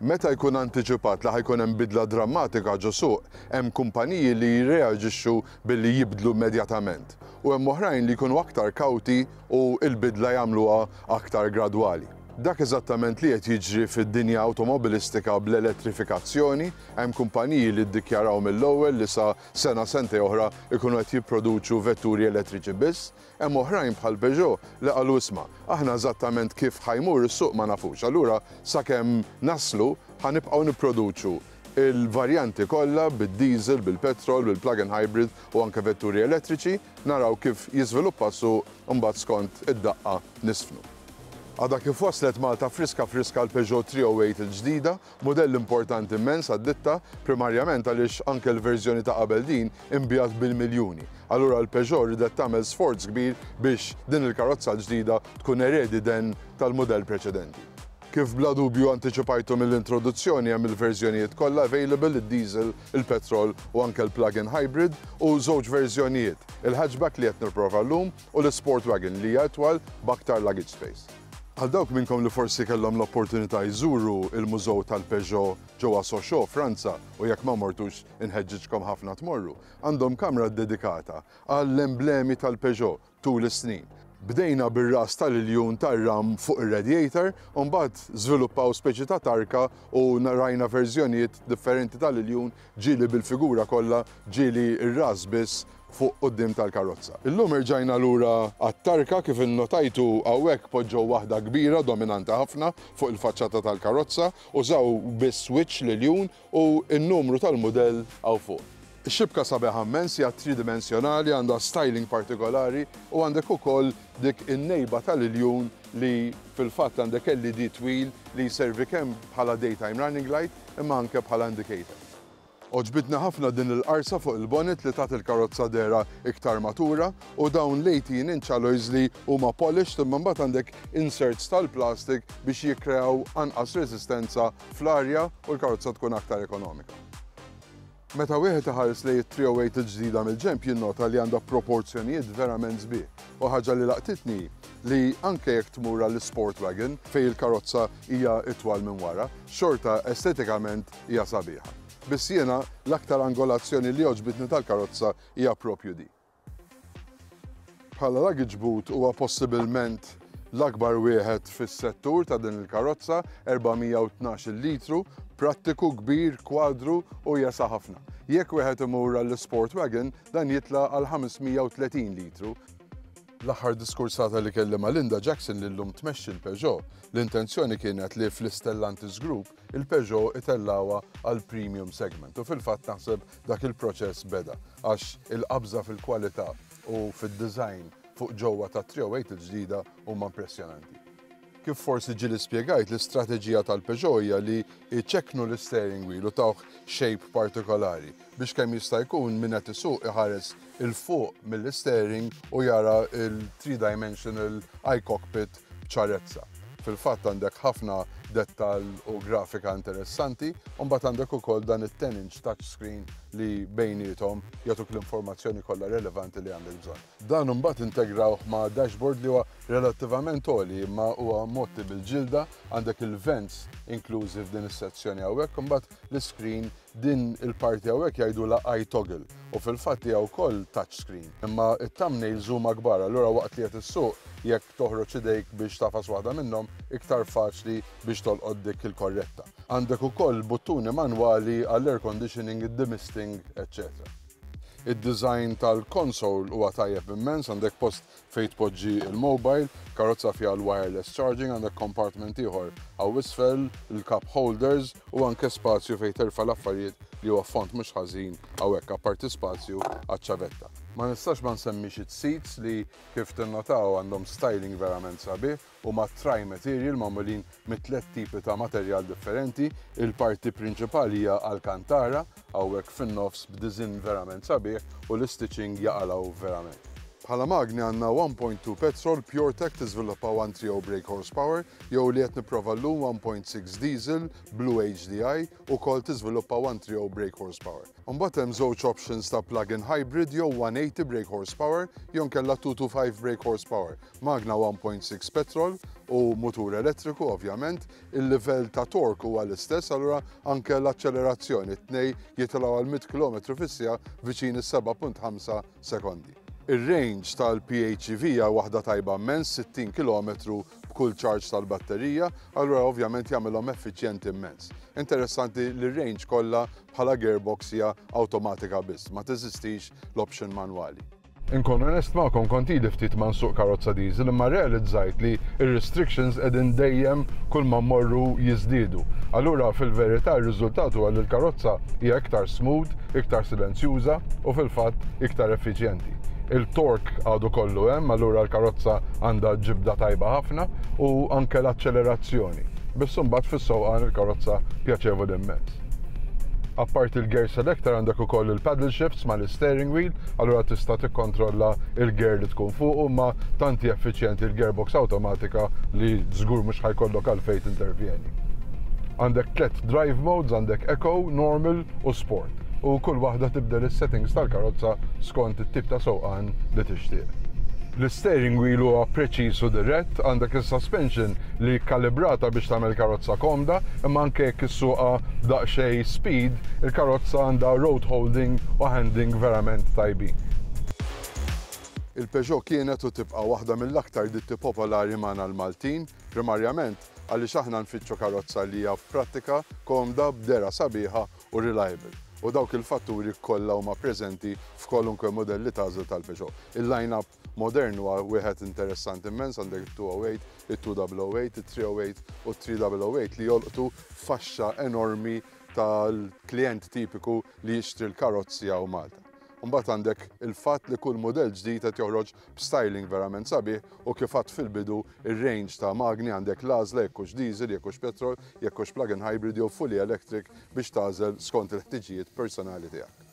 Meta jkun antiċipat li ħa jkun hemm bidla drammatika ġo suq, hemm kumpaniji li jirreaġixxu billi jibdlu immedjatament u hemm oħrajn li jkunu aktar kawti u l-bidla jagħmluha aktar gradwali. Dak eżattament li qed jiġri fid-dinja awtomobilistika bl-elettrifikazzjoni, hemm kumpaniji li ddikjaraw mill-ewwel li sa sena sentejn oħra jkunu qed jipproduċu vetturi elettriċi biss, hemm oħrajn bħal Peugeot li qalu isma', aħna eżattament kif ħa jmur is-suq ma nafux, allura sakemm naslu ħa nibqgħu nipproduċu l-varjanti kollha bid-diesel, bil-petrol, bil-plug-in hybrid u anke vetturi elettriċi, naraw kif jiżviluppa s-suq imbagħad skont id-daqqa nisfnu. Għadha kif waslet Malta friska friska l-Peugeot 308 il-ġdida, mudell importanti immens għad-ditta, primarjament għaliex anke l-verżjoni ta' qabel din inbiegħet bil-miljuni. Allura l-Peugeot ridet tagħmel sforz kbir biex din il-karozza l-ġdida tkun eredi den tal-mudell preċedenti. Kif bla dubju antiċipajtu mill-introduzzjoni hemm il-verżjonijiet kollha available, id-diesel, il-petrol u anke l-plug-in hybrid u żewġ verżjonijiet, il-hatchback li qed nipprova llum u l-sport wagon li hija itwal b'aktar luggage space. Għal dawk minnkom li forsi kellhom l-opportunità jżuru il-Mużew tal-Peugeot ġewwa Sochaux, Franza, u jekk ma mortux inħeġġiġkom ħafna tmorru, għandhom kamra ddedikata għall-emblemi tal-Peugeot tul is-snin. Bdejna bir-ras tal-iljun tar-ram fuq ir-radiator, u mbagħad żviluppaw speċi ta' tarka u rajna verżjonijiet differenti tal-iljun ġieli bil-figura kollha, ġieli r-ras biss fuq quddiem tal-karozza. Illum irġajna lura għat-tarka kif innotajtu hawnhekk poġġew waħda kbira dominanti ħafna fuq il-faċċata tal-karozza, użaw biss wiċċ l-iljun u n-numru tal-mudell hawn fuq. Ix-xibka sabiħa immens, hija tridimensjonali, għandha styling partikolari u għandek ukoll dik in-nejba tal-iljun li fil-fatt għandek LED twil li jservi kemm bħala daytime running light imma anke bħala indicator. Għoġbitni ħafna din il-qarsa fuq il-bonnet li tat il-karozza dehra iktar matura u dawn l-18 inch alloys li huma polished imma mbagħad għandek inserts tal-plastik biex jikkreaw anqas resistenza fl-arja u l-karozza tkun aktar ekonomika. Meta wieħed iħares lejn it-308 il-ġdida mill-ġenb jinnota li għandha proporzjonijiet verament sbieħ. U ħaġa li laqtitni li anke jekk tmur għall sport wagon fejn il-karozza hija itwal minn wara, xorta estetikament hija sabiħa. Biss jiena l-aktar angolazzjoni li għoġbitni tal-karozza hija propju di. Bħala luggage boot huwa possibilment l-akbar wieħed fis-settur ta' din il-karozza, 412 litru, prattiku kbir, kwadru u jesa ħafna. Jekk wieħed imur għall-Sport Wagon, dan jitla għal 530 litru. L-aħħar diskursata li kelli ma' Linda Jackson li llum tmexxi l-Peugeot, l-intenzjoni kienet li fl-Stellantis Group il-Peugeot itellgħuha għal premium segment u fil-fatt naħseb dak il-proċess beda għax il-qabża fil-kwalità u fid-design fuq ġewwa ta' 308 il-ġdida huma impressjonanti. Kif forsi ġieli spjegajt, l-istrateġija tal-Peugeot hija li jċekknu l-steering wheel u tawh shape partikolari biex kemm jista' jkun min qed isuq iħares 'il fuq mill-steering u jara il-three-dimensional iCockpit b'ċarezza. Fil-fatt għandek ħafna dettal u grafika interessanti, u mbagħad għandek ukoll dan it-10 inch touchscreen li bejniethom jagħtuk l-informazzjoni kollha relevanti li għandek bżonn. Dan imbagħad integrawh ma' dashboard li huwa relattivament għoli imma huwa mgħotti bil-ġilda, għandek il-vents inklużi f'din is-sezzjoni hawnhekk, imbagħad l-iscreen din il-parti hawnhekk jgħidulha iToggle u fil-fatt hija wkoll touchscreen. Imma it-thumbnails huma kbar, allura waqt li qed issuq jekk toħroġ idejk biex tagħfas waħda minnhom iktar faċli biex tolqot dik il-korretta. Għandek ukoll buttuni manwali għall-air conditioning, id-demisting, eċċetera. Id-design tal-console huwa tajjeb immens, għandek post fejn tpoġġi il-mobile, karozza fiha l-wireless charging, għandek compartment ieħor hawn isfel, il-cup holders u anke spazju fejn terfa' l-affarijiet li huwa font mhux ħażin hawnhekk apparti spazju għaċ-ċavetta. Ma nistax ma nsemmix it-seats li kif tinnotaw għandhom styling verament sabiħ huma tri-material magħmulin mit tliet tipi ta' materjal differenti. Il-parti prinċipali hija Alcantara, hawnhekk fin-nofs b'design verament sabiħ u l-stitching jaqalgħu verament. Bħala magni għandna 1.2 petrol PureTech tiżviluppa 130 brake horsepower jew li qed nipprova llum 1.6 diesel Blue HDI ukoll tiżviluppa 130 brake horsepower. Imbagħad hemm żewġ options ta' plug-in hybrid jew 180 brake horsepower jew nkella 225 brake horsepower. Magna 1.6 petrol u mutur elettriku ovvjament, il-livell ta' torque huwa l-istess, allura anke l-aċċelerazzjoni t-tnej jitilgħu għal 100 km fis-siegħa viċin is-7.5 sekondi. Ir-range tal-PHEV hija waħda tajba immens, 60 kilometru b'kull charge tal-batterija, allura ovvjament jagħmilhom effiċjenti immens. Interessanti li r-range kollha bħala gearbox hija awtomatika biss, ma teżistix l-option manwali. Inkun onest magħkom, kont ili ftit ma nsuq karozza diesel imma rrealizzajt li r-restrictions qegħdin dejjem kull ma mmorru jiżdiedu. Allura fil-verità r-riżultat huwa li l-karozza hija iktar smooth, iktar silenzjuża u fil-fatt iktar effiċjenti. Il-torque għadu kollu hemm, allura l-karozza għandha ġibda tajba ħafna u anke l-aċċelerazzjoni. Biss imbagħad fis-sewqan il-karozza pjaċevoli immens. Apparti l-gear selector għandek ukoll il-paddle shifts mal-steering wheel, allura tista' tikkontrolla il-gear li tkun fuqu, imma tant hi effiċjenti l-gearbox awtomatika li żgur mhux ħa jkollok għalfejn tintervjeni. Għandek tliet drive modes, għandek Eco, Normal u Sport. U kull waħda tibdel is-settings tal-karozza skont it-tip ta' sewqan li tixtieq. L-steering wheel huwa preċiż u dirett, għandek is-suspension li kalibrata biex tagħmel karozza komda, imma anke jekk issuqha daqsxejn speed, il-karozza għandha road holding u handling verament tajbin. Il-Peugeot kienet u tibqa' waħda mill-aktar ditti popolari magħna l-Maltin, primarjament għaliex aħna nfittxu karozza li hija prattika, komda, b'dehra sabiħa u reliable. U dawk il-fatturi kollha huma preżenti f'kwalunkwe modell li tagħżel tal-Peugeot. Il-line-up modern huwa wieħed interessanti immens, għandek il-208, il-2008, il-308 u il-3008 li jolqtu faxxa enormi tal-klient tipiku li jixtri l-karozzi hawn Malta. Mbagħad għandek il-fatt li kull modell ġdid qed joħroġ b'styling verament sabiħ u kif għedt fil-bidu ir-range ta' magni għandek l-għażla jekk hux diesel, jekk hux petrol, jekk hux plug-in hybrid jew fully electric biex tagħżel skont il-ħtiġijiet personali tiegħek.